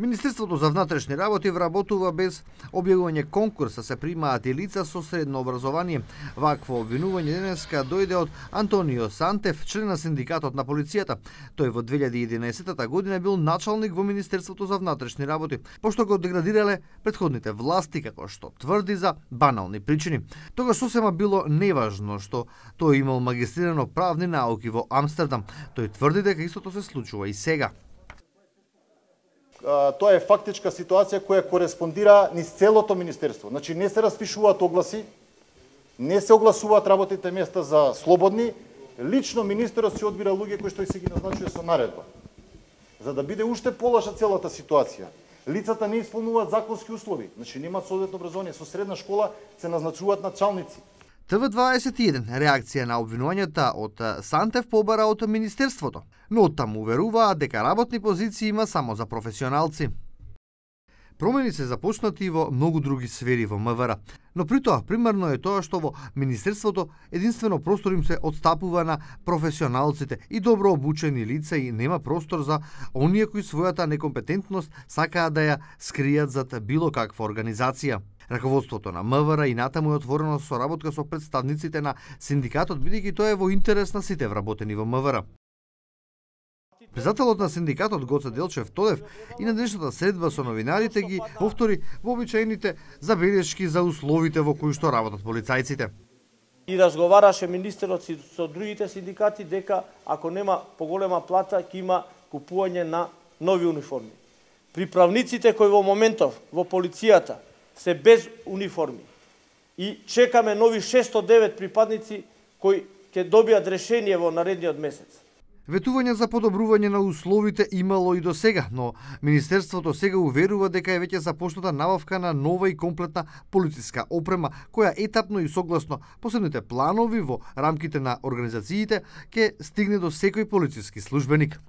Министерството за внатрешни работи вработува без објавување конкурса, се примаат и лица со средно образование. Вакво обвинување денеска дојде од Антонио Сантев, член на синдикатот на полицијата. Тој во 2011 година бил началник во Министерството за внатрешни работи, пошто го деградирале претходните власти, како што тврди за банални причини. Тогаш сосема било неважно што тој имал магистрирано правни науки во Амстердам. Тој тврди дека истото се случува и сега. Тоа е фактичка ситуација која кореспондира низ целото министерство. Значи не се распишуваат огласи, не се огласуваат работните места за слободни, лично министерот си одбира луѓе кои што се ги назначува со наредба. За да биде уште полоша целата ситуација, лицата не исполнуваат законски услови, значи немаат соодветно образование, со средна школа се назначуваат началници. ТВ21 реакција на обвинувањата од Сантев побара од Министерството, но оттаму уверуваат дека работни позиции има само за професионалци. Промени се започнати во многу други сфери во МВР, но при тоа примерно е тоа што во Министерството единствено простор им се отстапува на професионалците и добро обучени лица и нема простор за оние кои својата некомпетентност сакаат да ја скријат зад било каква организација. Раководството на МВР и натаму е отворено со соработка со представниците на синдикатот, бидејќи тоа е во интерес на сите вработени во МВР. Председателот на синдикатот Гоце Делчев Тодев и на денешната средба со новинарите ги повтори вообичаените забелешки за условите во кои што работат полицајците. И разговараше министерот со другите синдикати дека ако нема поголема плата ќе има купување на нови униформи. Приправниците кои во моментов во полицијата се без униформи и чекаме нови 609 припадници кои ќе добијат решение во наредниот месец. Ветување за подобрување на условите имало и до сега, но Министерството сега уверува дека е веќе започната набавка на нова и комплетна полициска опрема, која етапно и согласно посебните планови во рамките на организациите ќе стигне до секој полициски службеник.